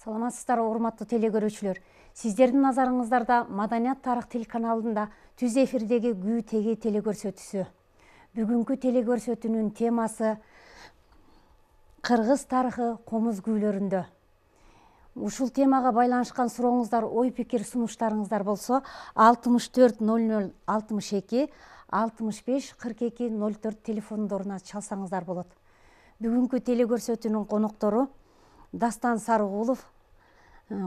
Саламатсыздарбы, урматтуу телекөрүүчүлөр. Сиздердин назарыңыздарда Маданият тарых телеканалында түз эфирдеги Күү теги телекөрсөтүүсү. Бүгүнкү телекөрсөтүүнүн темасы Кыргыз тарыхы комуз күүлөрүндө. Ушул темага байланышкан сурооңуздар, ой пикир сунуштарыңыздар болсо 64 00 62 65 42 04 телефондоруна чалсаңыздар болот. Бүгүнкү телекөрсөтүүнүн коноктору Дастан Сарыгулов,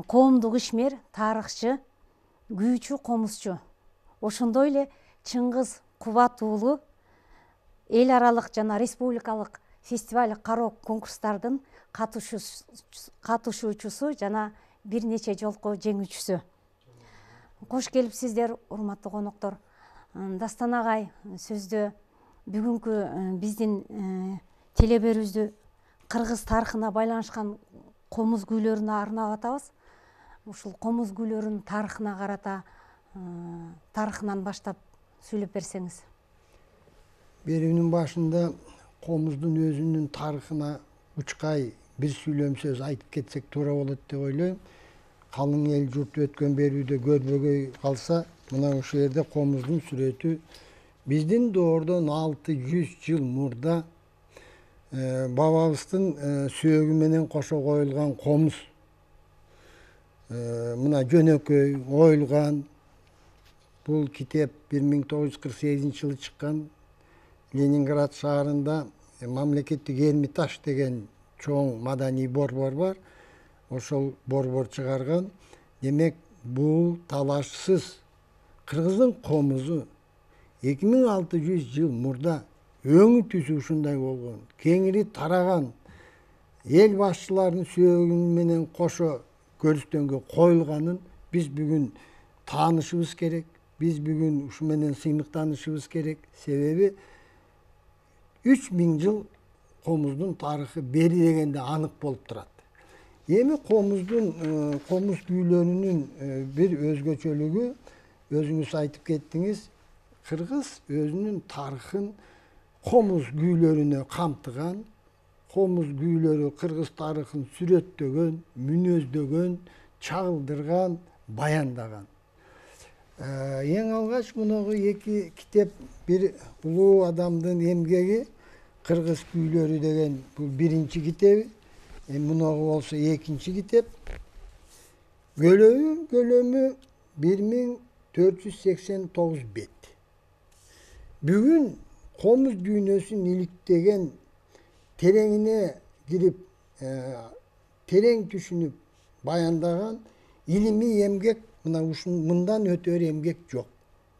коомдук ишмер, тарыхчы, күүчү, комузчу. Ошондой эле Чыңгыз Кубат уулу эл аралык жана республикалык фестиваль кароо конкурстардын катышуучусу жана бир нече жолку жеңүүчүсү. Кош келипсиздер, урматтуу коноктор. Дастан агай, сөздө бүгүнкү биздин телеберүүбүздү Кыргыз тарыхына байланышкан комуз күүлөрүнө арнап атабыз. Ушул комуз күүлөрүнүн тарыхына карата тарыхынан баштап сүйлөп берсеңиз. Берүүнүн башында комуздун өзүнүн тарыхына учкай бир сүйлөм сөз айтып кетсек туура болот деп ойлойм. Калың эл журт өткөн берүүдө көрбөгөй калса, мына ушул жерде комуздун сүрөтү биздин доордон 600 жыл мурда бабабыздын сөөгү менен кошо коюлган комуз. Мына жөнөкөй оюлган. Бул китеп 1948-жылы чыккан. Ленинград шаарында мамлекеттик Эрмитаж деген чоң маданий борбор бар. Ошол борбор чыгарган. Демек, бул талашсыз Кыргыздын комузу 2600 жыл мурда өңү түзү ушундай болгон, кеңири тараган, эл башчыларынын сөөгү менен кошо көрүстөнгө коюлганын биз бүгүн таанышыбыз керек. Биз бүгүн ушу менен сыймыктанышыбыз керек. Себеби 3000 жыл комуздун тарыхы бери дегенде анык болуп турат. Эми комуз күүлөрүнүн бир өзгөчөлүгү, өзүңүз айтып кеттиңиз, Кыргыз өзүнүн тарыхын комуз күүлөрүнө камтыган, комуз күүлөрү Кыргыз тарыхын сүрөттөгөн, мүнөздөгөн, чагылдырган, баяндаган. Эң алгач мунагу эки китеп, бир улуу адамдын эмгеги, Кыргыз күүлөрү деген бул биринчи китеби, мунагу болсо экинчи китеп. Көлөмү 1489 бет. Бүгүн комуз дүйнөсүн иликтеген, тереңине кирип, терең түшүнүп баяндаган илимий эмгек, мына мындан өтөр эмгек жок.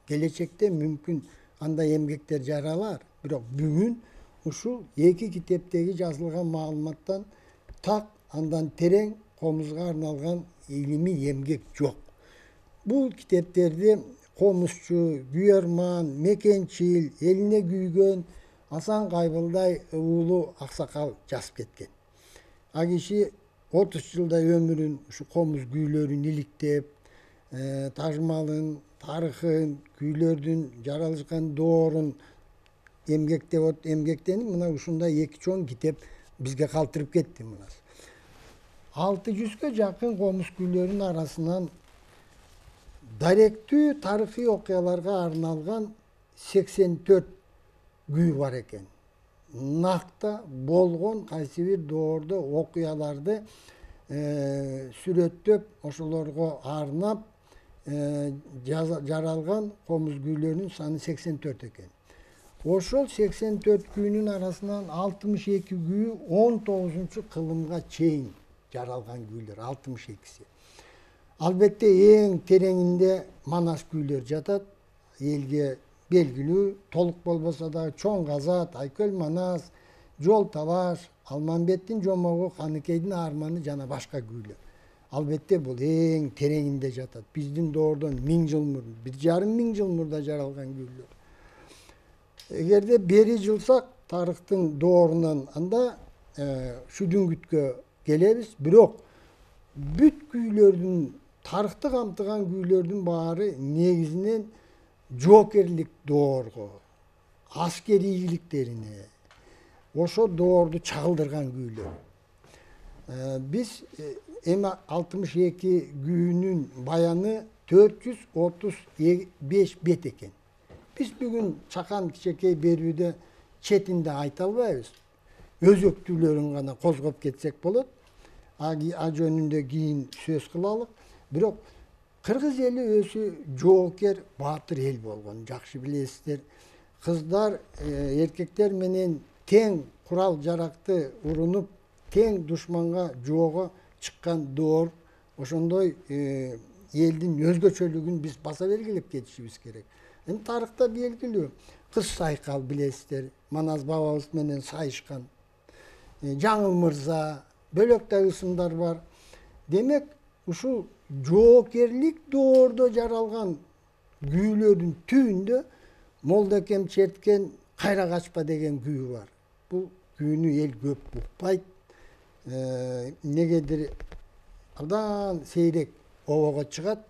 Келечекте мүмкүн андай эмгектер жаралар, бирок бүгүн ушул эки китептеги жазылган маалыматтан так андан терең комузга арналган илимий эмгек жок. Бул китептерди комузчу, күйөрман, мекенчил, элине күйгөн Асан Кайбылдай уулу аксакал жазып кеткен. А киши 30 жылдай өмүрүн ушу комуз күүлөрүн иликтеп, тажмалын, тарыхын, күүлөрдүн жаралышкан доорун эмгектенип, мына ушундай эки чоң китеп бизге калтырып кетти. 600гө жакын комуз күүлөрүнүн арасынан даректүү тарыхый окуяларга арналган 84 күү бар экен. Накта болгон кайсы бир доордо окуяларды сүрөттөп, ошолорго арнап жаралган комуз күүлөрүнүн саны 84 экен. Ошол 84 күүнүн арасынан 62 күү 19-кылымга чейин жаралган күүлөр, 62-си. Албетте эң тереңинде Манас күүлөр жатат. Элге белгилүү, толук болбосо да Чоң Казат, Айкөл Манас, Жол Талаш, Алмамбеттин жомогу, Каныкейдин арманы жана башка күүлөр. Албетте бул эң тереңинде жатат. Биздин доордон 1000 жыл мурда, 1500 жыл мурда жаралган күүлөр. Эгерде бери жылсак, тарыхтын доорунан анда Шүдүңгүткө келебиз. Бирок бүт күүлөрдүн, тарыхты камтыган күүлөрдүн баары негизинен жоокерлик доорго, аскери ийгиликтерине, ошо доорду чагылдырган күүлөр. Биз эми 62 күүнүн баяны 435 бет экен. Биз бүгүн чакан кичекей берүүдө четинде айта албайбыз. Өзөктүүлөрүн гана козгоп кетсек болот. А жөнүндө кийин сөз кылалык. Бирок кыргыз эли өзү жоокер, баатыр эл болгон, жакшы билесиздер. Кыздар, эркектер менен тең курал жаракты урунуп, тең душманга жоого чыккан доор. Ошондой элдин өзгөчөлүгүн биз баса белгилеп кетишибиз керек. Эми тарыхта белгилүү. Кыз Сайкал билесиздер, Манас бабабыз менен сайышкан. Жаңыл мырза, бөлөктөй ысымдар бар. Демек, ушул жоокерлик доордо жаралган күүлөрдүн түбүндө Молдокем черткен Кайра качпа деген күү бар. Бул күүнү эл көп укпайт. Негедир абдан сейрек обого чыгат.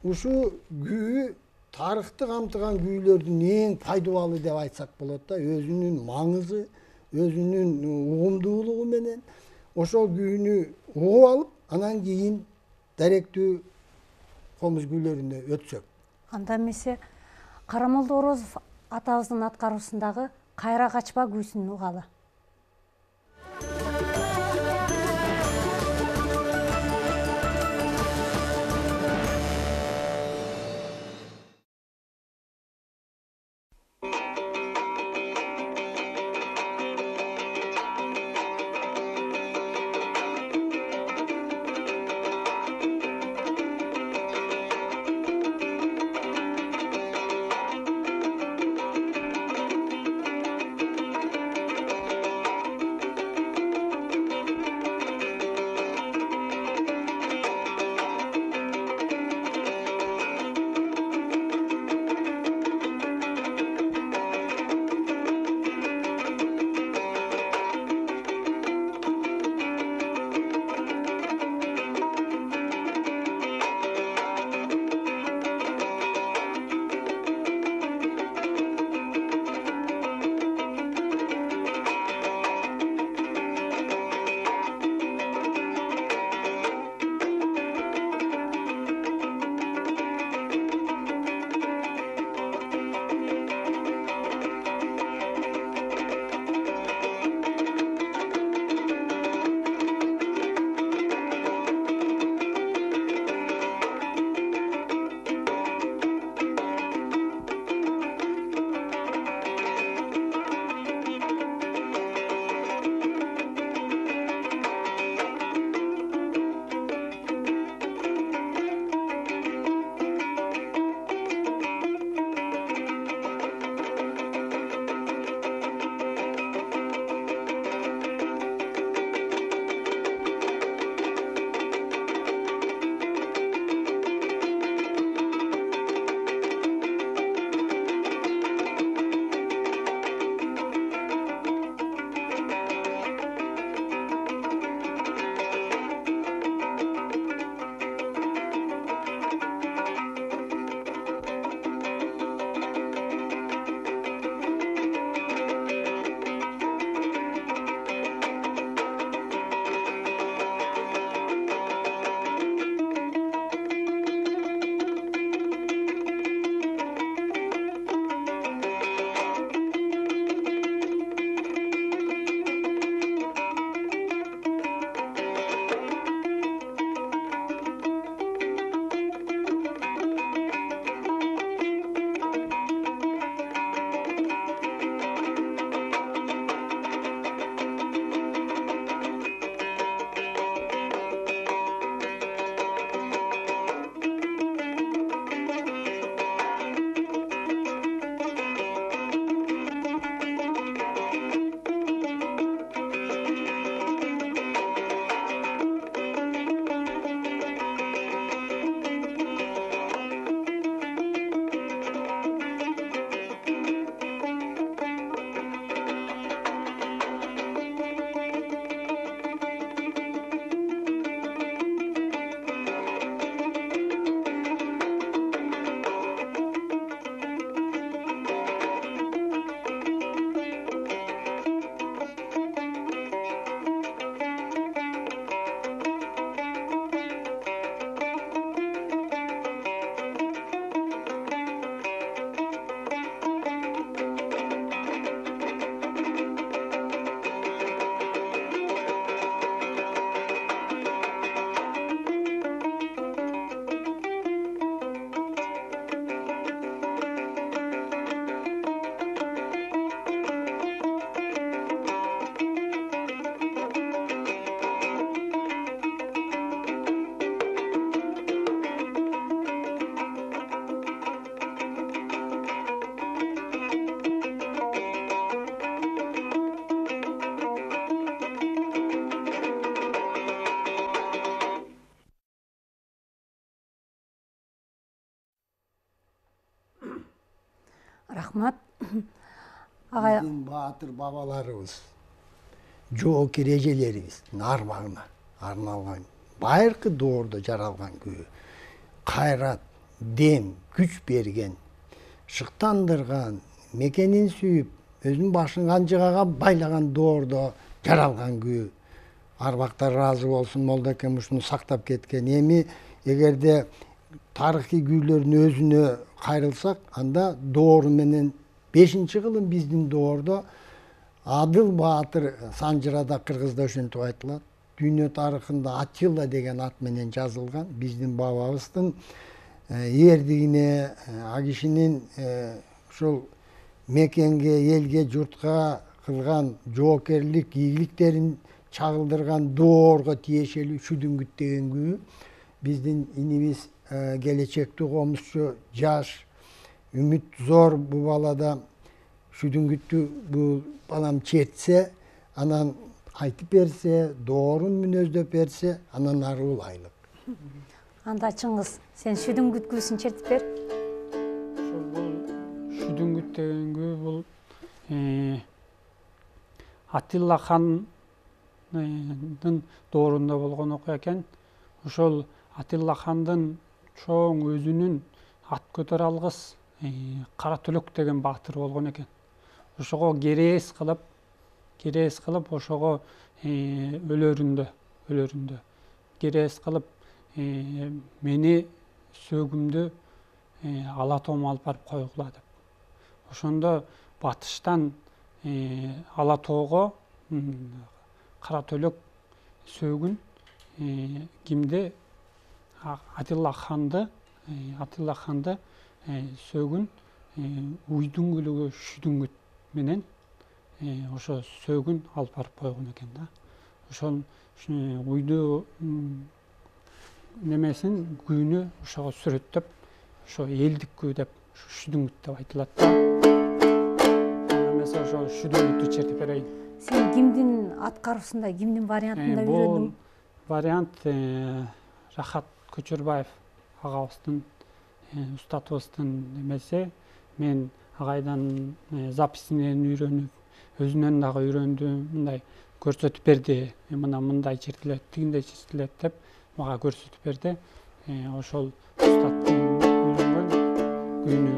Ушу күү тарыхты камтыган күүлөрдүн эң пайдалуу деп айтсак болот да, өзүнүн маңызы, өзүнүн угумдуулугу менен ошол күүнү угуп алып, анан кийин даректүү комуз күүлөрүнө өтсөк. Анда эмесе Карамолдо Орозов атабыздын аткаруусундагы Кайра качпа күүсүн угалы. Рахмат. Ага, Биздин баатыр бабаларыбыз, жоокер эжелерибиздин армагына арналган байыркы доордо жаралган күү, кайрат, дем, күч берген, шыктандырган, мекенин сүйүп, өзүнүн башын канжыгага байлаган доордо жаралган күү. Арбактар ыраазы болсун, Молдокен ушуну сактап кеткен. Эми эгерде тарыхый күүлөрдүн өзүнө кайрылсак, анда доору менен 5-кылым биздин доордо Адыл Баатыр Санжырада, Кыргызда ошентип айтылат. Дүйнө тарыхында Атилла деген ат менен жазылган. Биздин бабабыздын эрдигине, а кишинин ушул мекенге, элге, журтка кылган жоокерлик, ийгиликтерин чагылдырган доорго тиешелүү Шүдүңгүт деген күү. Биздин инибиз келечектүү комузчу, жаш, үмүт зор бул балада Шүдүңгүттү бул балам чертсе, анан айтып берсе, доорун мүнөздөп берсе, анан ары улайлык. анда Чыңгыз, сен Шүдүңгүт күүсүн чертип бер. Бул Шүдүңгүт деген күү бул Атилла хандын доорунда болгон окуя экен. Ошол Атилла хандын чоң өзүнүн ат көтөрө алгыс Кара Төлөк деген баатыр болгон экен. Ошого керээс кылып ошого өлөрүндө керээс кылып мени сөөгүмдү ала тоoma алып барып койгула деп. Ошондо батыштан ала тоого Кара Төлөк сөөгүн кимди Атилла ханды сөөгүн уйдун күлүгү Шүдүңгүт менен ошо сөөгүн алып барып койгон экен да. Ошол уйду немесин күүнү ошого сүрөттөп, ошо элдик күү деп Шүдүңгүт деп айтылат да. Эмесе ошо Шүдүңгүттү чертип берейин. Сен кимдин аткаруусунда, кимдин вариантында үйрөндүң? Бул вариант Рахат Көчөрбаев агабыздын, устатыбыздын эмеси. Мен агайдан записинен үйрөнүп, өзүнөн дагы үйрөндүм. Мындай көрсөтүп берди. Мындай чертилет, тигиндей чертилет деп мага көрсөтүп берди. Ошол устаттын үйрөнгөн күүнү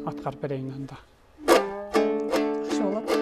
аткарып берейин анда. Жакшы болот.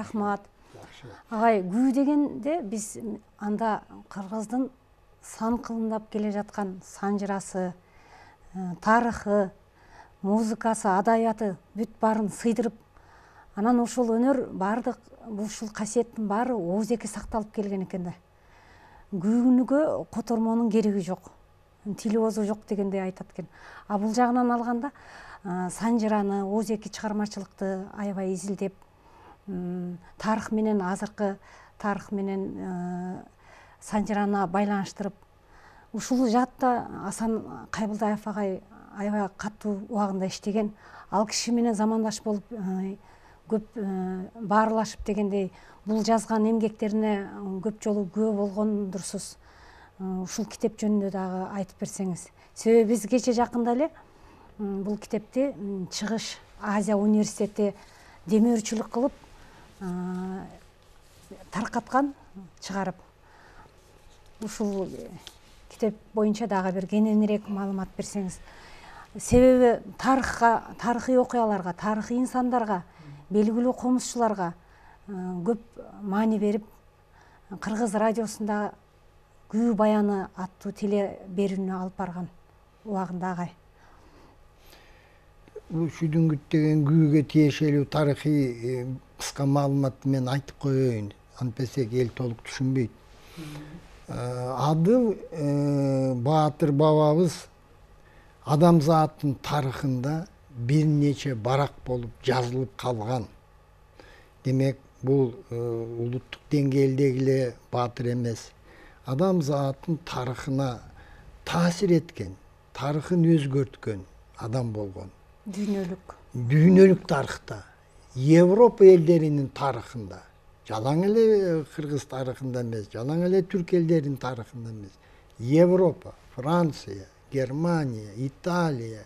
рахмат. Жакшы. Агай, күү дегенде биз анда кыргыздын сан кылымдап келе жаткан санжырасы, тарыхы, музыкасы, адабияты бүт баарын сыйдырып, анан ушул өнөр баардык ушул касиеттин баары оозеки сакталып келген экен да. Күүнүгө котормонун кереги жок, тили оозу жок дегендей айтат экен. А бул жагынан алганда санжыраны, оозеки чыгармачылыкты аябай изилдеп, тарых менен азыркы тарых менен санжыраны байланыштырып, ушул жаатта Асан Кайбылдаев агай аябай катуу убагында иштеген. Ал киши менен замандаш болуп көп баарлашып дегендей, бул жазган эмгектерине көп жолу күбө болгондурсуз. Ушул китеп жөнүндө дагы айтып берсеңиз. Себеби биз кече жакында эле бул китепти Чыгыш Азия университети демөөрчүлүк кылып таркаткан, чыгарып. Ушул китеп боюнча дагы бир кененирээк маалымат берсеңиз. Себеби тарыхый окуяларга, тарыхый инсандарга, белгилүү комузчуларга көп маани берип, Кыргыз радиосунда Күү баяны аттуу теле берүүнү алып барган убагында агай. Бул Шүдүңгүт деген күүгө тиешелүү тарыхый кыска маалыматты мен айтып коеюн. Антпесек эл толук түшүнбөйт. Адыл Баатыр бабабыз адамзаттын тарыхында бир нече барак болуп жазылып калган. Демек, бул улуттук деңгээлдеги эле баатыр эмес. Адамзаттын тарыхына таасир эткен, тарыхын өзгөрткөн адам болгон. Дүйнөлүк тарыхта, Европа элдеринин тарыхында, жалаң эле кыргыз тарыхында эмес, жалаң эле түрк элдеринин тарыхында эмес. Европа, Франция, Германия, Италия,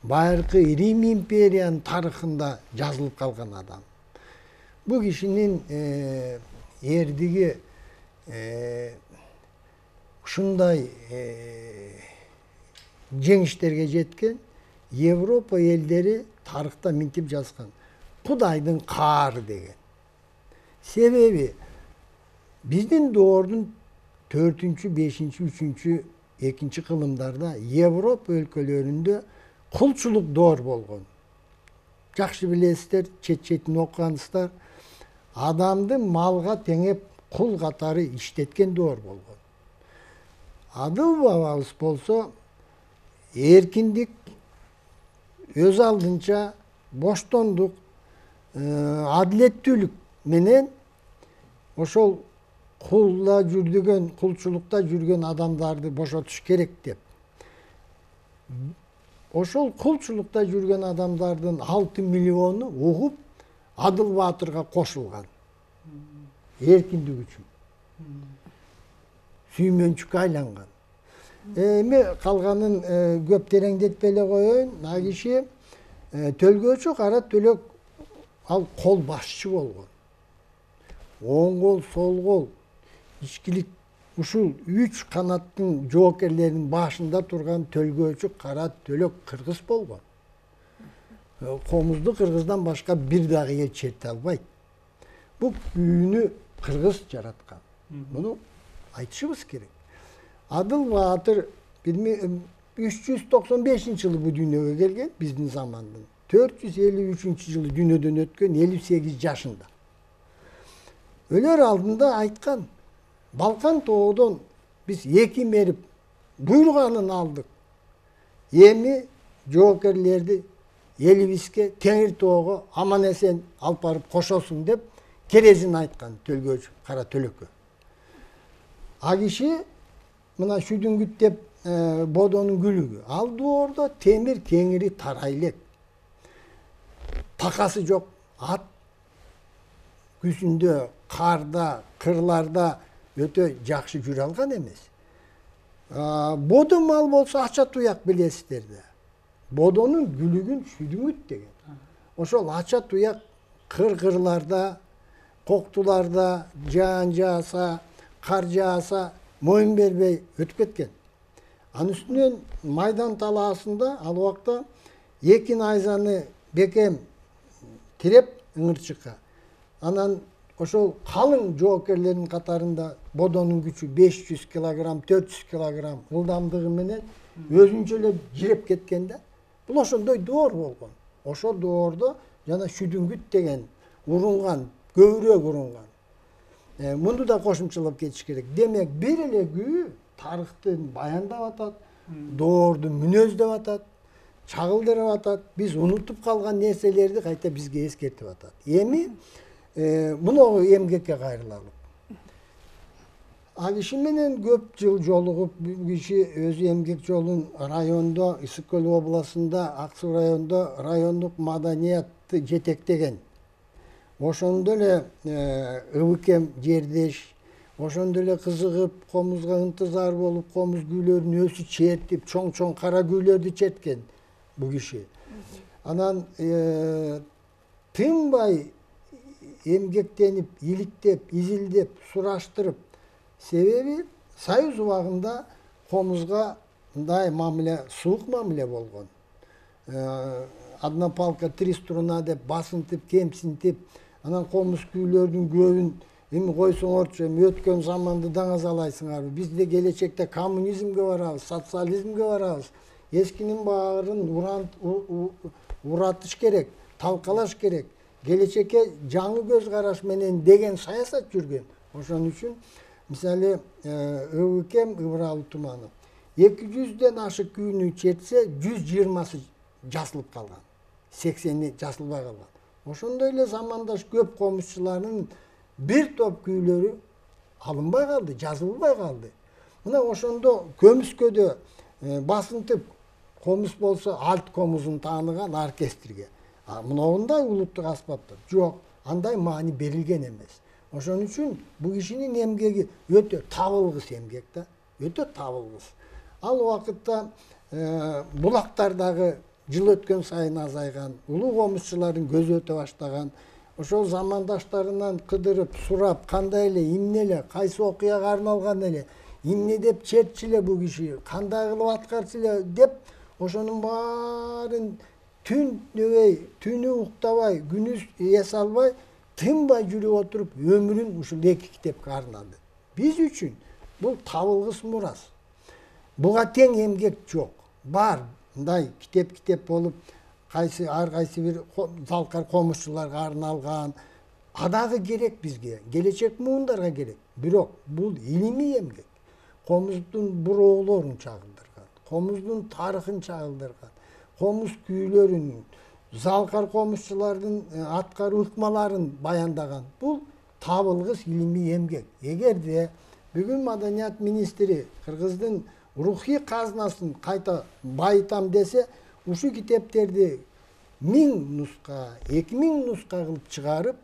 байыркы Рим империянын тарыхында жазылып калган адам. Бул кишинин эрдиги ушундай жеңиштерге жеткен. Европа элдери тарыхта минтип жазган. Кудайдын каары деген. Себеби биздин доордун 4-5, 3, 2 кылымдарда Европа өлкөлөрүндө кулчулук доор болгон. Жакшы билесиздер, чет-четин окугансыздар, адамды малга теңеп кул катары иштеткен доор болгон. Адыл бабабыз болсо эркиндик, өз алдынча боштондук, адилеттүүлүк менен ошол кулда жүргөн, кулчулукта жүргөн адамдарды бошотуш керек деп. Ошол кулчулукта жүргөн адамдардын 6 миллиону угуп Адыл Баатырга кошулган. Эркиндик үчүн. Сүймөнчүккө айланган. Эми калганын көп тереңдетпей эле коеюн. А киши Төлгөөчү Кара Төлөк ал кол башчы болгон. Оң кол, сол кол, ичкилик ушул 3 канаттын жоокерлеринин башында турган Төлгөөчү Кара Төлөк кыргыз болгон. Комузду кыргыздан башка бир дагы эл черте албайт. Бул күүнү кыргыз жараткан. Муну айтышыбыз керек. Адыл Баатыр 395-жылы бу дүйнөгө келген, биздин замандын. 453-жылы дүйнөдөн өткөн, 58 жашында. Өлөр алдында айткан, Балкан тоодон биз 2 мерип буйруганын алдык. Эми жоокерлерди элибизге, Теңир тоого аман эсен алып барып кошосун деп керезин айткан Төлгөөчү Кара Төлөккө. А киши мына Шүдүңгүт деп бодонун күлүгү. Ал доордо темир кеңири тарай элек. Такасы жок, ат күзүндө, карда, кырларда өтө жакшы жүрө алган эмес. Бодо мал болсо ача туяк билесиздер да. Бодонун күлүгүн Шүдүңгүт деген. Ошол ача туяк кыр-кырларда, коктуларда жаан жааса, кар жааса, моюн бербей өтүп кеткен. Анын үстүнөн Майдан талаасында ал убакта 2 найзаны бекем тиреп ыңырчыкка. Анан ошол калың жоокерлердин катарында бодонун күчү 500 килограмм, 400 килограмм ылдамдыгы менен өзүнчө эле жиреп кеткен да. Бул ошондой доор болгон. Ошол доордо жана шүдүңгүт деген урунган, көбүрөөк урунган. Муну да кошумчалап кетиш керек. Демек, бир эле күү тарыхты баяндап атат, доорду мүнөздөп атат, чагылдырып атат. Биз унутуп калган нерселерди кайта бизге эскертип атат. Эми муну эмгекке кайрылалы. Ал киши менен көп жыл жолугуп, бул киши өзү эмгек жолун райондо, Ысык Көл областында, Ак Суу районунда райондук маданиятты жетектеген. Ошондо эле ыбыкем жердеш, ошондо эле кызыгып, комузга ынтызар болуп, комуз күүлөрүн өзү чертип, чоң-чоң кара күүлөрдү черткен бул киши. Анан тынбай эмгектенип, иликтеп, изилдеп, сураштырып, себеби Союз убагында комузга мындай мамиле, суук мамиле болгон. Одна палка 3 струна деп басынтып, кемсинтип, анан комуз күүлөрдүн көбүн эми койсоңорчу, эми өткөн заманды даңазалайсыңарбы? Бизде келечекте коммунизмге барабыз, социализмге барабыз. Эскинин баарын уратыш керек, талкалаш керек. Келечекке жаңы көз караш менен деген саясат жүргөн. Ошон үчүн мисалы ыбыкем Ыбыралы Туманов 200ден ашык күүнү чертсе 120сы жасылып калган, 80и жасылбай калган. Ошондой эле замандаш көп комузчулардын бир топ күүлөрү алынбай калды, жазылбай калды. Мына ошондо Көмүскөдө басынтып, комуз болсо альт комузун тааныган оркестрге. Мындай улуттук аспаптар жок, андай маани берилген эмес. Ошон үчүн бул кишинин эмгеги өтө табылгыс эмгек да, өтө табылгыс. Ал убакытта булактардагы жыл өткөн сайын азайган, улуу комузчулардын көзү өтө баштаган. Ошол замандаштарынан кыдырып, сурап, кандай эле, эмне эле, кайсы окуяга арналган эле, эмне деп чертчү эле бул киши, кандай кылып аткарчу эле деп, ошонун баарын түндөбөй, түнү уктабай, күнүз эс албай, тынбай жүрүп отуруп, өмүрүн ушул 2 китепке арнады. Биз үчүн бул табылгыс мурас. Буга тең эмгек жок. Бар, мындай китеп болуп, ар кайсы бир залкар комузчуларга арналган. Адагы керек бизге, келечек муундарга керек. Бирок бул илимий эмгек. Комуздун буроолорун чагылдырган, комуздун тарыхын чагылдырган, комуз күүлөрүн, залкар комузчулардын аткаруу ыкмаларын баяндаган. Бул табылгыс илимий эмгек. Эгерде бүгүн маданият министри Кыргыздын рухий казынасын кайта байытам десе, ушу китептерди 1000 нуска, 2000 нуска кылып чыгарып,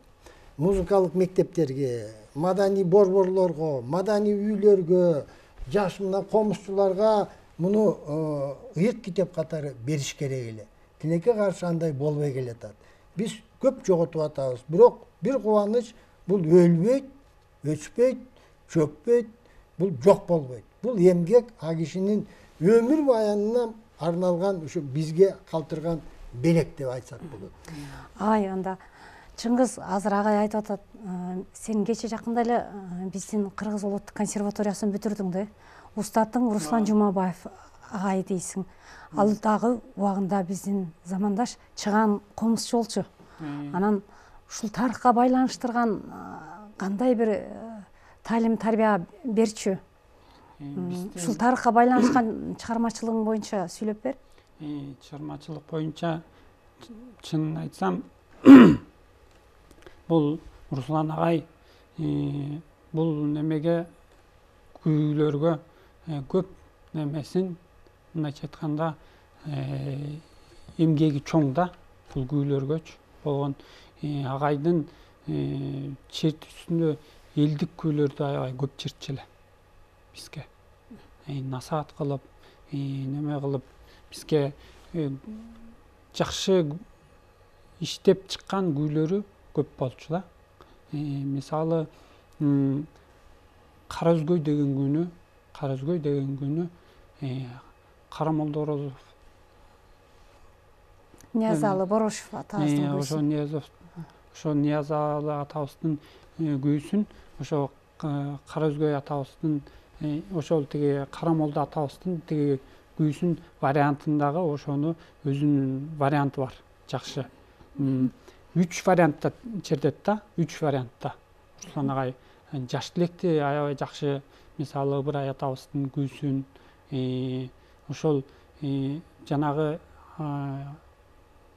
музыкалык мектептерге, маданий борборлорго, маданий үйлөргө, жаш мына комузчуларга муну ыйык китеп катары бериш керек эле. Тилекке каршы андай болбой келатат. Биз көп жоготуп атабыз. Бирок бир кубаныч, бул өлбөйт, өчпөйт, чөкпөйт, бул жок болбойт. Бул эмгек а кишинин өмүр баянына арналган, ушу бизге калтырган белек деп айтсак болот. Анда Чыңгыз азыр агай айтып атат, сен кече жакында эле биздин Кыргыз улуттук консерваториясын бүтүрдүң да. Устатың Руслан Жумабаев агай дейсиң. Ал дагы убагында биздин замандаш чыган комузчу болчу. Анан ушул тарыхка байланыштырган кандай бир таалим тарбия берчү? Ушул тарыхка байланышкан чыгармачылыгың боюнча сүйлөп бер. Чыгармачылык боюнча чынын айтсам, бул Руслан агай бул немеге күүлөргө көп немесин, мындайча айтканда, эмгеги чоң да, бул күүлөргөчү болгон. Агайдын чертүүсүндө элдик күүлөрдү аябай көп чертчү эле бизге. Насаат кылып, неме кылып, бизге жакшы иштеп чыккан күүлөрү көп болчу да. Мисалы, Караөзгөй деген күнү Карамолдо Орозов, Ниязалы Борошов атабыздын ошо Ниязов ошо Ниязалы атабыздын күүсүн ошо Кара Өзгөй атабыздын ошол тиги Карамолду атабыздын тиги күүсүн вариантындагы ошону өзүнүн варианты бар. Жакшы. 3 вариантта чертет да, 3 вариантта. Руслан агай жаш тилекти аябай жакшы, мисалы Ыбырай атабыздын күүсүн ошол жанагы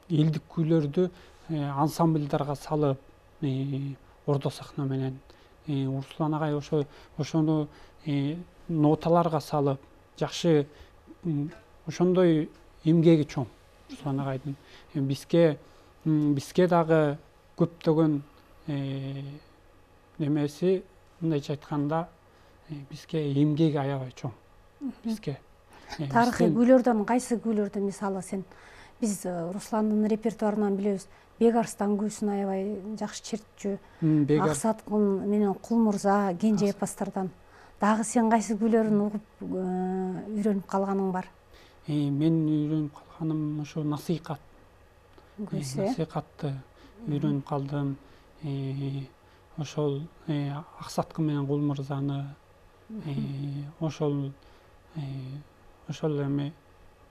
элдик күүлөрдү ансамбльдарга салып, ордо сахна менен Руслан агай ошону ноталарга салып, жакшы ошондой эмгеги чоң Руслан агайдын. Бизге дагы көптөгөн немеси, мындайча айтканда, бизге эмгеги аябай чоң. Бизге тарыхый күүлөрдөн кайсы күүлөрдү мисалы биз Русландын репертуарынан билебиз. Бек Арстан күүсүн аябай жакшы чертчү. Аксаткын менен Кул Мурза, Кенже эпосттордон. Дагы сен кайсы күүлөрүн угуп үйрөнүп калганың бар? Мен үйрөнүп калганым ошо насыйкат. Насыйкатты үйрөнүп калдым. Ошол Аксаткы менен Кул Мурзаны, ошол эми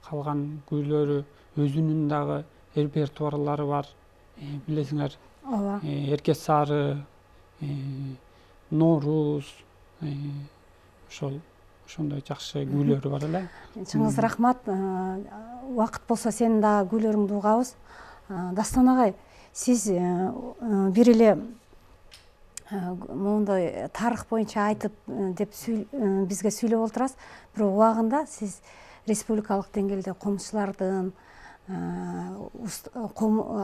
калган күүлөрү өзүнүн дагы репертуарлары бар. Билесиңер, ооба. Эрке Сары, Норуз, ошондой жакшы күүлөрү бар эле. Чыңгыз рахмат. Убакыт болсо сенин дагы күүлөрүңдү угабыз. Дастан агай, сиз бир эле моундай тарых боюнча айтып деп бизге сүйлөп олтурасыз. Бирок убагында сиз республикалык деңгээлде комузчулардын,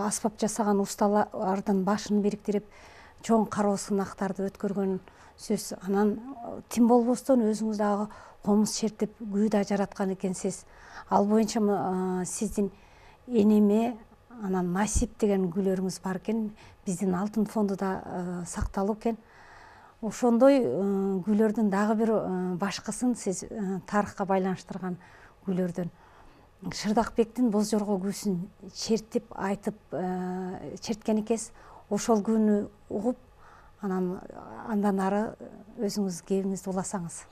аспап жасаган усталардын башын бириктирип, чоң кароо сынактарды өткөргөн сөз. Анан тим болбостон өзүңүз дагы комуз чертип, күү да жараткан экенсиз. Ал боюнча сиздин Энеме, анан Насип деген күүлөрүңүз бар экен. Биздин алтын фондуда сакталуу экен. Ошондой күүлөрдүн дагы бир башкысын сиз тарыхка байланыштырган күүлөрдөн Шырдакбектин Боз Жорго күүсүн чертип, айтып, черткен экенсиз. Ошол күүнү угуп, андан ары өзүңүз кебиңизди уласаңыз.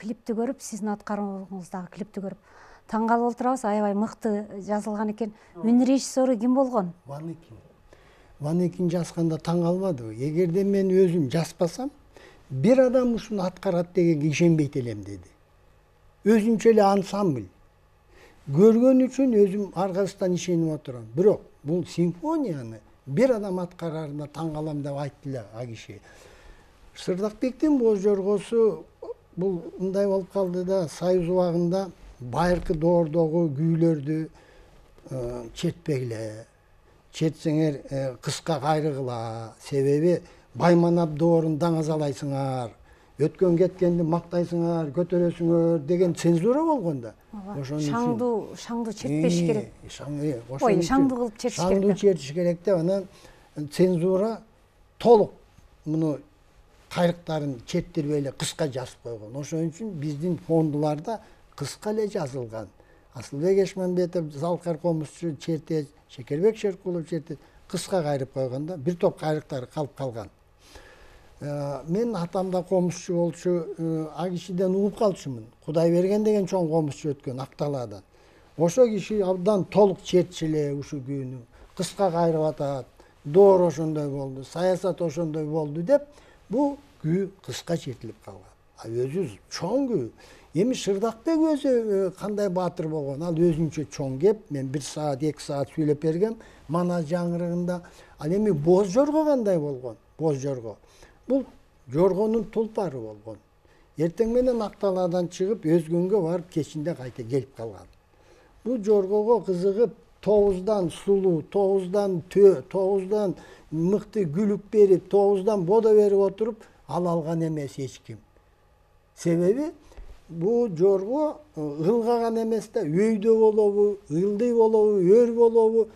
клипти көрүп, сиздин аткарууңуздагы клипти көрүп таң калып отурабыз. Аябай мыкты жазылган экен. Үн режиссеру ким болгон? Ванекин жазганда таң калбадыбы? Эгерде мен өзүм жазбасам, бир адам ушуну аткарат дегенге ишенбейт элем деди. Өзүнчө эле ансамбль. Көргөн үчүн өзүм аркасынан ишенип отурам. Бирок бул симфонияны бир адам аткарарына таң калам деп айтты эле а киши. Сырдакбектин Боз жоргосу бул мындай болуп калды да, Союз убагында байыркы доордогу күүлөрдү чертпегиле. Чертсеңер кыска кайрыгыла. Себеби Байманап доорун даңазалайсыңар, өткөн кеткенди мактайсыңар, көтөрөсүңөр деген цензура болгон да. Шаңду чертпеш керек. Ой, шаңду кылып чертиш керек. Шаңду чертиш керек деп анан цензура толук муну кайрыктарын чертирбей эле кыска жазып койгон. Ошон үчүн биздин фондуларда кыска эле жазылган. Асылбек Эшманбетов, Залкар Комузчу чертет, Шекербек Шеркулов чертет, кыска кайрып койгон да, бир топ кайрыктары калып калган. Мен атам да комузчу болчу, а кишиден угуп калчумун. Кудайберген деген чоң комузчу өткөн Акталаадан. Ошо киши абдан толук чертчи эле ушу күүнү. Кыска кайрып атат, доор ошондой болду, саясат ошондой болду деп, бул күү кыска чертилип калган. А өзү чоң күү. Эми Шырдакбек өзү кандай баатыр болгон, ал өзүнчө чоң кеп, мен 1 саат, 2 саат сүйлөп бергем Манас жаңырыгында. Ал эми Боз жорго кандай болгон? Боз жорго. Бул жоргонун тулпары болгон. Эртең менен Акталаадан чыгып, Өзгөнгө барып, кечинде кайта келип калган. Бул жоргого кызыгып, тооздан сулуу, тооздан төө, тооздан мыкты күлүп берип, тооздан бодо берип отуруп, алган эмес эч ким. Себеби бул жорго ылгаган эмес да, өйдө болобу, ылдый болобу, өр болобу,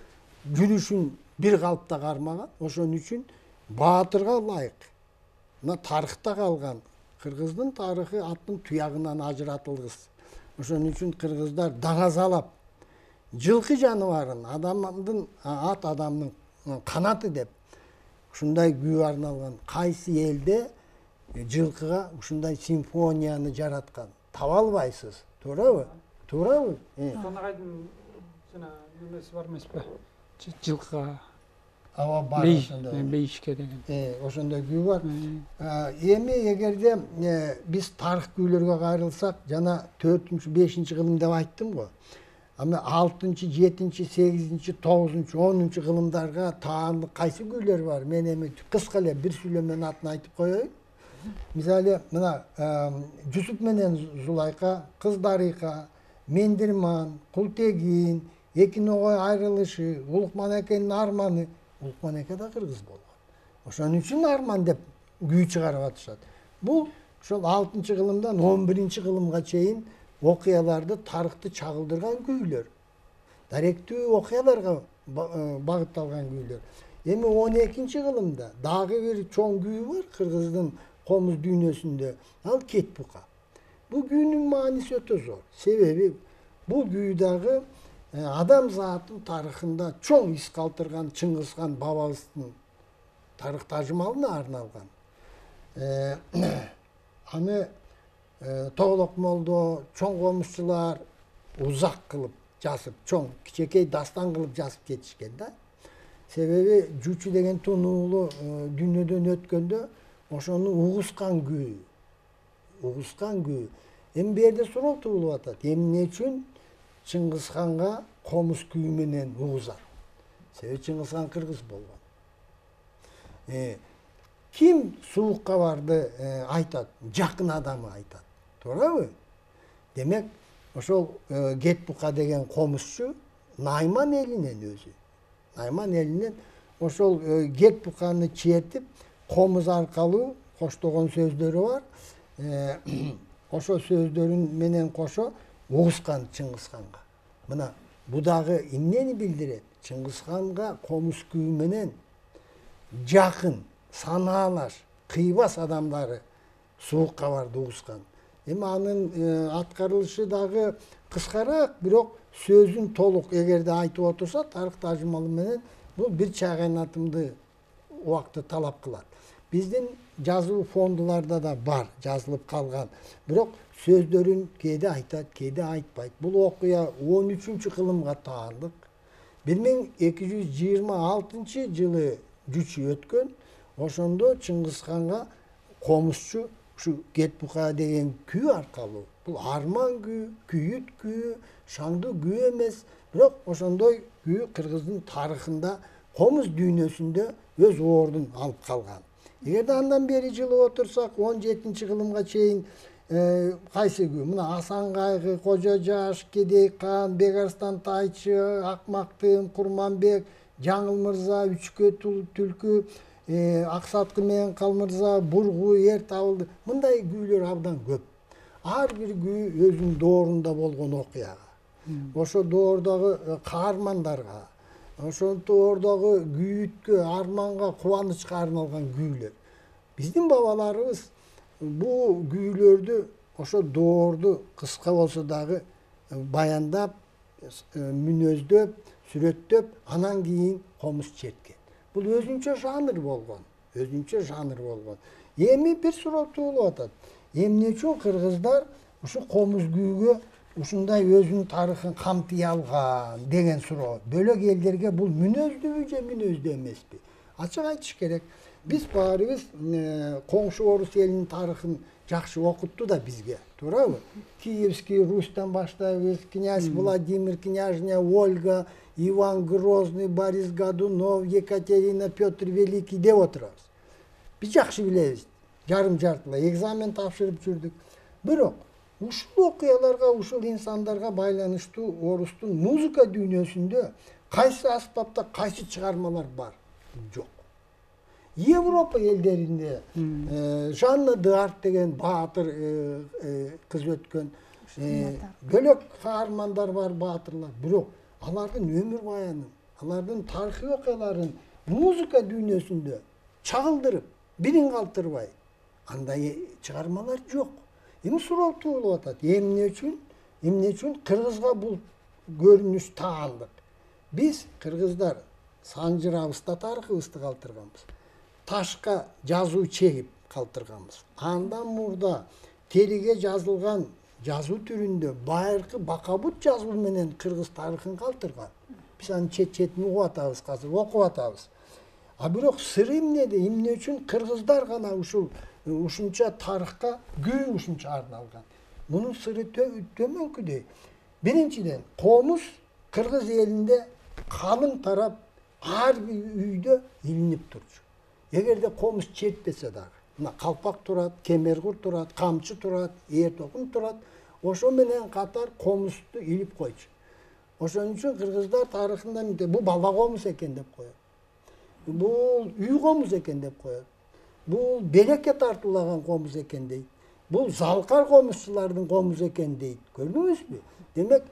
жүрүшүн бир калыпта кармаган. Ошон үчүн баатырга ылайык. Мына тарыхта калган. Кыргыздын тарыхы аттын туягынан ажыратылгыс. Ошон үчүн кыргыздар даңазалап, жылкы жаныбарын ат адамдын канаты деп ушундай күү арналган. Кайсы элде жылкыга ушундай симфонияны жараткан? Таба албайсыз. Туурабы? Туурабы? Сонагайдын жана немеси бар эмеспи? Жылкыга Аба бар ошондой. Бейишке деген. Ошондой күү бар. Эми эгерде биз тарых күүлөргө кайрылсак, жана 4-5 кылым деп айттым го. Ама 6-7, 8, 9, 10 кылымдарга таандык кайсы күүлөр бар? Мен эми кыска эле бир сүйлөмөнүн атын айтып коеюн. Мисалы, мына Жусуп менен Зулайка, Кыздарыйка, Мендирман, Култегин, Экин огой айрылышы, Улукман экенин арманы. Улукман эке да кыргыз болгон. Ошон үчүн арман деп күү чыгарып атышат. Бул ошол 6-кылымдан 11-кылымга чейин окуяларды, тарыхты чагылдырган күүлөр. Даректүү окуяларга багытталган күүлөр. Эми 12-кылымда дагы бир чоң күү бар кыргыздын комуз дүйнөсүндө. Ал Кет бука. Бул күүнүн мааниси өтө зор. Себеби бул күү дагы адам затын тарыхында чоң из калтырган Чыңгызхан бабабыздын тарых тажымалына арналган. Аны Тоголок молдо, чоң комузчулар узак кылып жазып, чоң кичекей дастан кылып жазып кетишкен да. Себеби Жучу деген тунуулу дүйнөдөн өткөндө ошону угускан күү. Угускан күү. Эми бу жерде суроо туулуп атат. Эмне үчүн Чыңгызханга комуз күү менен угузат? Себеби Чыңгызхан кыргыз болгон. Ким суук кабарды айтат? Жакын адамы айтат. Туурабы? Демек, ошол Кет бука деген комузчу Найман элинен өзү. Найман элинен ошол Кет буканы чертип, комуз аркалуу коштогон сөздөрү бар. Ошо сөздөрүн менен кошо угускан Чыңгызханга. Мына бу дагы эмнени билдирет? Чыңгызханга комуз күү менен жакын, санаалаш, кыйбас адамдары суук кабарды угускан. Эми анын аткарылышы дагы кыскараак, бирок сөзүн толук эгерде айтып отурса, тарых тажымалы менен бул бир чай кайнатымды убакытты талап кылат. биздин жазуу фондуларда да бар, жазылып калган. Бирок сөздөрүн кээде айтат, кээде айтпайт. Бул окуя 13-кылымга таандык. 1226-жылы жүчү өткөн. Ошондо Чыңгызханга комузчу ушу Кетбука деген күү аркылуу, бул арман күү, күйүт күү, шаңдуу күү эмес, бирок ошондой күү кыргыздын тарыхында, комуз дүйнөсүндө өз ордун алып калган. Эгерде андан бери жылып отурсак, 17-кылымга чейин кайсы күү? Мына Асан Кайгы, Кожо Жаш, Кедей Кан, Бегарстан Тайчы, Акмактын, Курманбек, Жаңыл мырза, Үчкө түлкү, Аксаткы менен Калмырза, Бургу, Эр табылды. Мындай күүлөр абдан көп. Ар бир күү өзүнүн доорунда болгон окуяга. Ошо доордогу каармандарга, ошол доордогу күйүткө, арманга, кубанычка арналган күүлөр. Биздин бабаларыбыз бул күүлөрдү ошо доорду кыска болсо дагы баяндап, мүнөздөп, сүрөттөп, анан кийин комуз черткен. Бул өзүнчө жанр болгон. Эми бир суроо туулуп атат. Эмне үчүн кыргыздар ушу комуз күүгө ушундай өзүнүн тарыхын камтый алган деген суроо. Бөлөк элдерге бул мүнөздүүбү же мүнөздүү эмеспи? Ачык айтыш керек. Биз баарыбыз коңшу орус элинин тарыхын жакшы окутту да бизге, туурабы? Киевский Рустан баштайбыз, князь Владимир, княжня Ольга, Иван Грозный, Борис Годунов, Екатерина, Петр Великий деп отурабыз. Биз жакшы билебиз. Жарым-жартылай экзамен тапшырып жүрдүк. Бирок ушул окуяларга, ушул инсандарга байланыштуу орустун музыка дүйнөсүндө кайсы аспапта кайсы чыгармалар бар? Жок. Европа элдеринде Жанна д'Арк деген баатыр кыз өткөн, бөлөк каармандар бар, баатырлар. Бирок алардын өмүр баянын, алардын тарыхый окуяларын музыка дүйнөсүндө чагылдырып, бирин калтырбай андай чыгармалар жок. Эми суроо туулуп атат. Эмне үчүн кыргызга бул көрүнүш таандык? Биз кыргыздар санжырабызда тарыхыбызды калтырганбыз. Ташка жазуу чегип калтырганбыз. Андан мурда териге жазылган жазуу түрүндө байыркы бакабут жазуу менен кыргыз тарыхын калтырган. Биз анын чет-четин угуп атабыз, азыр окуп атабыз. А бирок сыры эмнеде? Эмне үчүн кыргыздар гана ушунча тарыхка күү ушунча арналган? Мунун сыры төмөнкүдөй. Биринчиден, комуз кыргыз элинде калың тарап, ар бир үйдө илинип турчу. Эгерде комуз чертпесе дагы, мына калпак турат, кемергур турат, камчы турат, эр токун турат, ошо менен катар комузду илип койчу. Ошон үчүн кыргыздар тарыхында бул бала комуз экен деп коет. Бул үй комуз экен деп коет. Бул белекке тартуулаган комуз экен дейт. Бул залкар комузчулардын комузу экен дейт. Көрдүңүзбү? Демек,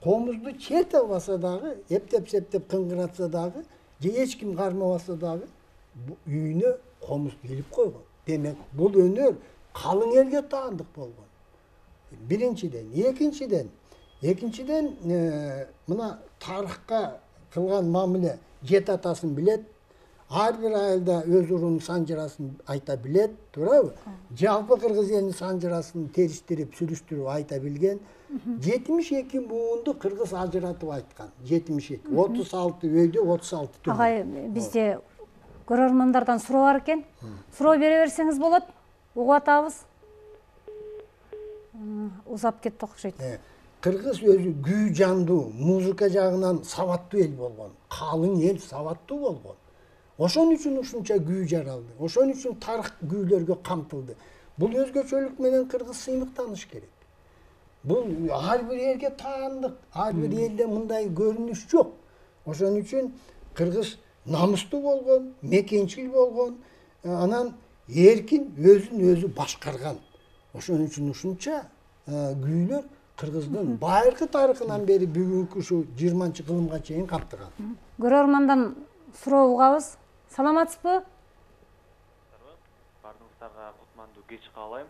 комузду черте албаса дагы, эптеп-септеп кыңгыратса дагы, же эч ким кармабаса дагы, үйүнө комузду илип койгон. Демек, бул өнөр калың элге таандык болгон. Биринчиден, экинчиден мына тарыхка кылган мамиле, жет атасын билет, ар бир айылда өз урунун санжырасын айта билет, туурабы? Жалпы кыргыз элинин санжырасын териштирип, сүрүштүрүп айта билген. 72 буунду кыргыз ажыратып айткан. 72. 36 өйдө, 36 түбү. Агай, бизде көрөрмандардан суроо бар экен. Суроо бере берсеңиз болот. Угуп атабыз. Узап кетти окшойт. Кыргыз өзү күү жандуу, музыка жагынан сабаттуу эл болгон. Калың эл сабаттуу болгон. Ошон үчүн ушунча күү жаралды. Ошон үчүн тарых күүлөргө камтылды. Бул өзгөчөлүк менен кыргыз сыймыктаныш керек. Бул ар бир элге таандык, ар бир элде мындай көрүнүш жок. Ошон үчүн кыргыз намыстуу болгон, мекенчил болгон, анан эркин өзүн өзү башкарган. Ошон үчүн ушунча күүлөр кыргыздын байыркы тарыхынан бери бүгүнкү ушу 20-кылымга чейин камтыган. Көрөрмандан суроо угабыз. Саламатсызбы? Бардыгыңыздарга кутмандуу кеч каалайм.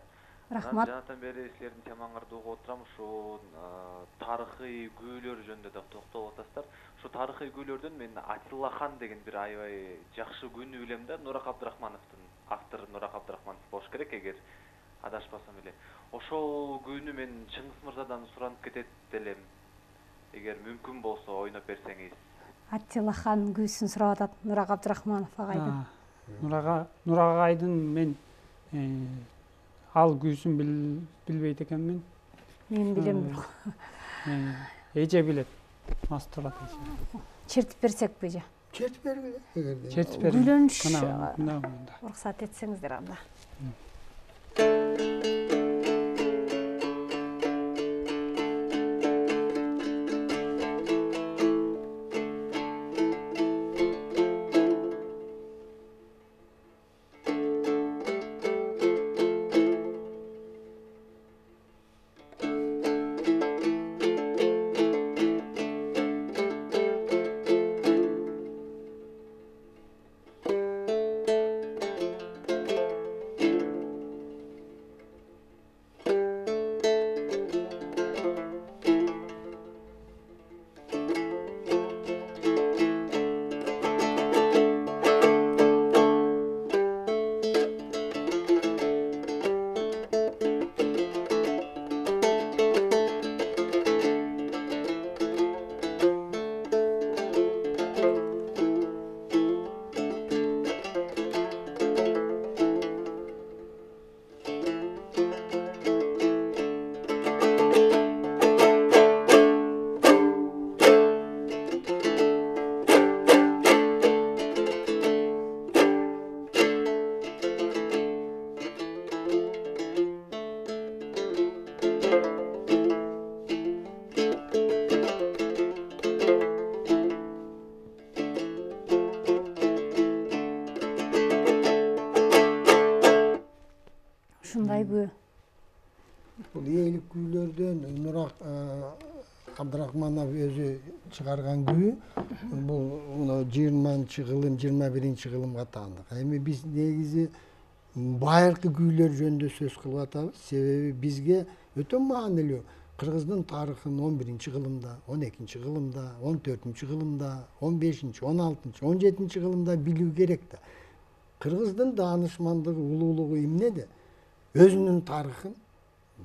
Рахмат. Жанатан бери силердин темаңарды угуп отурам. Ушу тарыхый күүлөр жөнүндө да токтолуп атасыздар. Ушу тарыхый күүлөрдөн мен Атилла хан деген бир аябай жакшы күнү билем да, Нурак Абдрахмановдун автор Нурак Абдрахманов болуш керек, эгер адашпасам эле. Ошол күүнү мен Чыңгыз мырзадан суранып кетет элем. Эгер мүмкүн болсо ойноп берсеңиз. Аттилахан күүсүн сурап атат Нурак Абдрахманов агайдан. Нурак агайдын мен ал күүсүн билбейт экенмин. Мен билем бирок. Эже билет. Мастурат эже. Чертип берсекпи же? Чертип бергиле эгерде. Чертип бериң. Күйлөнүш уруксат этсеңиздер анда. Ушундай күү. Бул ээлик күүлөрдөн Нурак Абдрахманов өзү чыгарган күү. Бул 20-кылым, 21-кылымга таандык. Эми биз негизи байыркы күүлөр жөнүндө сөз кылып атабыз. Себеби бизге өтө маанилүү Кыргыздын тарыхын 11-кылымда, 12-кылымда, 14-кылымда, 15-16, 17-кылымда билүү керек да. Кыргыздын даанышмандыгы, улуулугу эмнеде? Өзүнүн тарыхын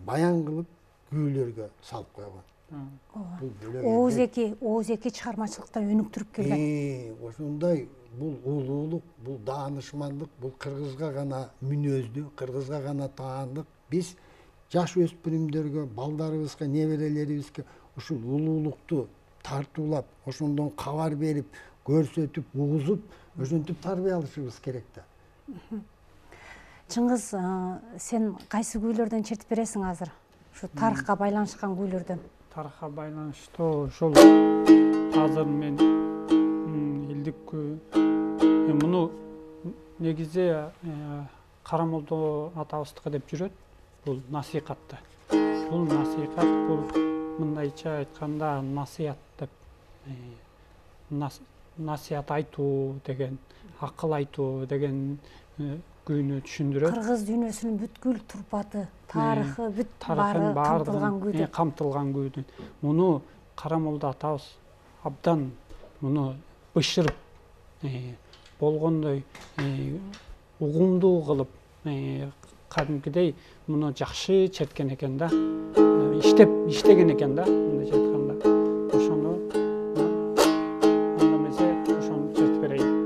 баян кылып күүлөргө салып койгон. Оозеки чыгармачылыкта өнүктүрүп келген. Ошондой бул улуулук, бул даанышмандык, бул кыргызга гана мүнөздүү, кыргызга гана таандык. Биз жаш өспүрүмдөргө, балдарыбызга, неберелерибизге ушул улуулукту тартуулап, ошондон кабар берип, көрсөтүп, угузуп, ошентип тарбия алышыбыз керек да. Чыңгыз, сен кайсы күүлөрдөн чертип бересиң азыр? Ушу тарыхка байланышкан күүлөрдөн. Тарыхка байланыштуу ушул азыр мен элдик күү. Муну негизи Карамолдо атабыздыкы деп жүрөт. Бул насихатты. Бул насихат, бул мындайча айтканда насият деп. Насият айтуу деген, акыл айтуу деген күүнү түшүндүрөт. Кыргыз дүйнөсүнүн бүткүл турпаты, тарыхы бүт баары камтылган күү. Камтылган күүдүн. Муну Карамолдо атабыз абдан муну бышырып болгондой угумдуу кылып кадимкидей муну жакшы черткен экен да. Иштеген экен да, мындайча айтканда. Ошону анда эмесе ошону чертип берейин.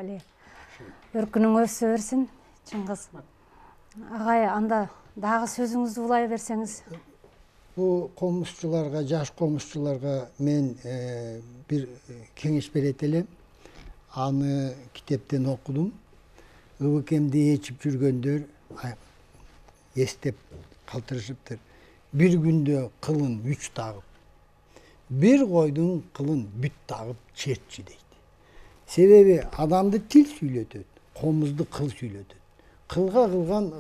эле өркүнүң өсө берсин, Чыңгыз. Агай, анда дагы сөзүңүздү улай берсеңиз. Бул комузчуларга, жаш комузчуларга мен бир кеңеш берет элем. Аны китептен окудум. Ыбыкемди ээчип жүргөндөр эстеп калтырышыптыр. Бир күндө кылын 3 тагып, бир койдун кылын бүт тагып чертчи дейт. Себеби адамды тил сүйлөтөт, комузду кыл сүйлөтөт. Кылга кылган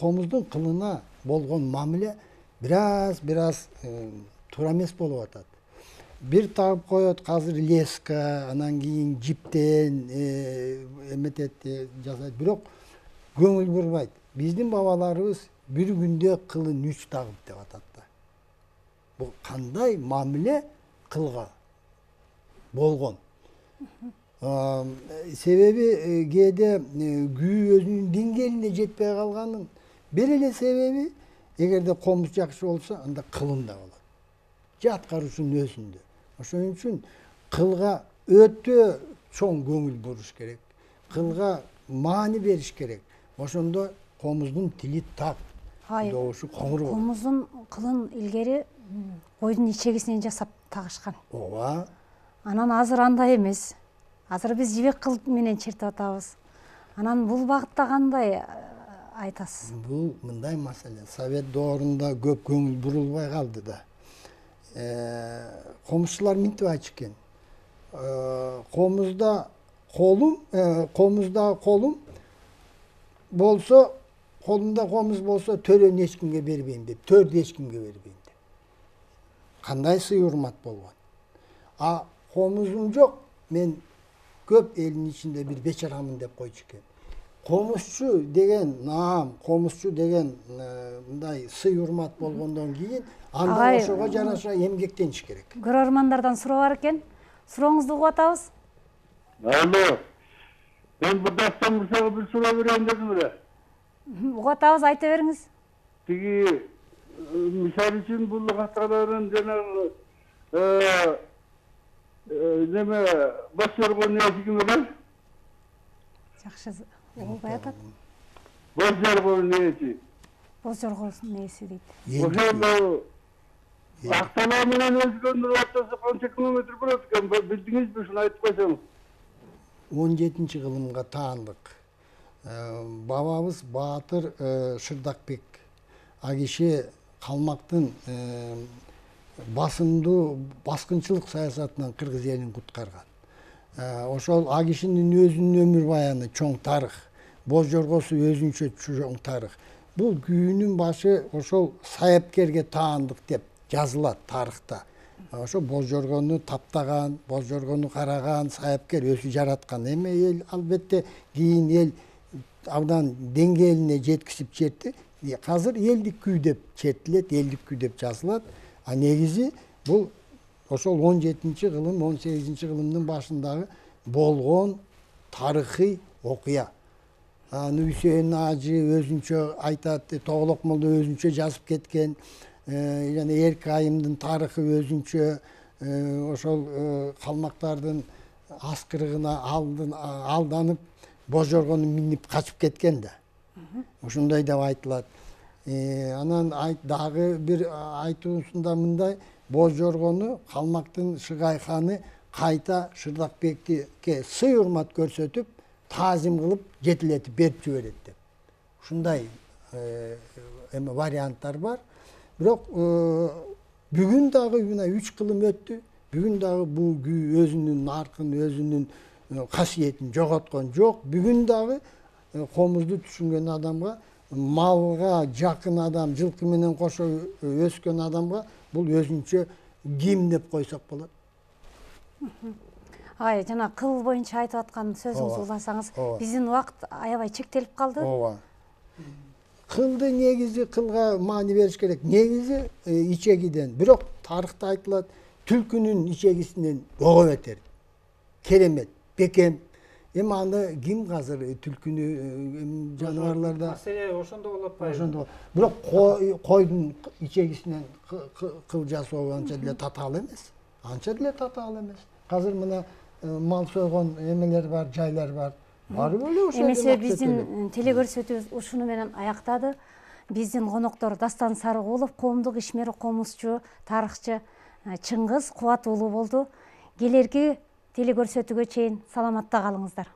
комуздун кылына болгон мамиле бираз туура эмес болуп атат. Бир тагып коет, азыр леска, анан кийин жиптен эметет, жасайт, бирок көңүл бурбайт. Биздин бабаларыбыз бир күндө кылын 3 тагып деп атат да. Бул кандай мамиле кылга болгон. Себеби кээде күү өзүнүн деңгээлине жетпей калганын бир эле себеби, эгерде комуз жакшы болсо, анда кылын да болот. Же аткаруучунун өзүндө. Ошон үчүн кылга өтө чоң көңүл буруш керек. Кылга маани бериш керек. Ошондо комуздун тили так, добушу коңур болот. Комуздун кылын илгери койдун ичегисинен жасап тагышкан. Ооба. Анан азыр андай эмес. Азыр биз жибек кыл менен чертип атабыз. Анан бул багытта кандай айтасыз? Бул мындай маселе. Совет доорунда көп көңүл бурулбай калды да. Комузчулар мынтип айтчу экен. Комузда колум болсо, колумда комуз болсо, төрөнү эч кимге бербейм деп, төрдү эч кимге бербейм деп. Кандай сый урмат болгон. А комузум жок, мен көп элдин ичинде бир бечарамын деп койчу экен. Комузчу деген наам, комузчу деген мындай сый урмат болгондон кийин анда ошого жараша эмгектениш керек. Көрөрмандардан суроо бар экен. Сурооңузду угуп атабыз. Алло. Мен Бадастан Мырзага бир суроо берейин дедим эле. Угуп атабыз, айта бериңиз. Тиги мисал үчүн бул каталарын жанагы неме баш жоргон нээси ким эле? Жакшы угубай атат. Баш жоргон нээси. Боз жоргон нээси дейт. Ошол Актала менен өзгөнүн ортосу канча километр болот экен? Билдиңизби, ушуну айтып койсоңуз. 17 кылымга таандык. Бабабыз Баатыр Шырдакбек. А киши калмактын баскынчылык саясатынан кыргыз элин куткарган. Ошол а кишинин өзүнүн өмүр баяны чоң тарых. Боз жоргосу өзүнчө чоң тарых. Бул күүнүн башы ошол Саяпкерге таандык деп жазылат тарыхта. Ошо боз жоргону таптаган, боз жоргону караган Саяпкер өзү жараткан. Эми эл албетте кийин эл абдан деңгээлине жеткизип чертти. Азыр элдик күү деп чертилет, элдик күү деп жазылат. А негизи бул ошол 17-кылым, 18-кылымдын башындагы болгон тарыхый окуя. Аны Үсейин Ажы өзүнчө айтат, Тоголок молдо өзүнчө жазып кеткен. Жана Эрк Айымдын тарыхы өзүнчө, ошол калмактардын аскырыгына алданып, боз жоргону минип качып кеткен да. Ошондой деп айтылат. Анан дагы бир айтуусунда мындай, боз жоргону калмактын Шыгай ханы кайта Шырдакбекке сый урмат көрсөтүп, таазим кылып, жетилетип берип жиберет деп. Ушундай варианттар бар. Бирок бүгүн дагы 3 кылым өттү. Бүгүн дагы бул күү өзүнүн наркын, өзүнүн касиетин жоготкон жок. Бүгүн дагы комузду түшүнгөн адамга, малга жакын адам, жылкы менен кошо өскөн адамга бул өзүнчө ким деп койсок болот. Жана кыл боюнча айтып аткан сөзүңүздү уласаңыз, биздин убакыт аябай чектелип калды. Ооба. Кылды негизи кылга маани бериш керек. Негизи ичегиден. Бирок тарыхта айтылат, түлкүнүн ичегисинен ого бетер. Керемет, бекем. Эми аны ким азыр түлкүнү жаныбарларда маселе ошондо болуп атпайбы? Ошондо. Бирок койдун ичегисинен кыл жасоо анча деле татаал эмес. Анча деле татаал эмес. Азыр мына мал сойгон эмелер бар, жайлар бар. Барып эле ошо эмесе биздин телекөрсөтүүбүз ушуну менен аяктады. Биздин коноктор Дастан Сарыгулов, коомдук ишмер, комузчу, тарыхчы Чыңгыз Кубат уулу болду. Келерки телекөрсөтүүгө чейин саламатта калыңыздар.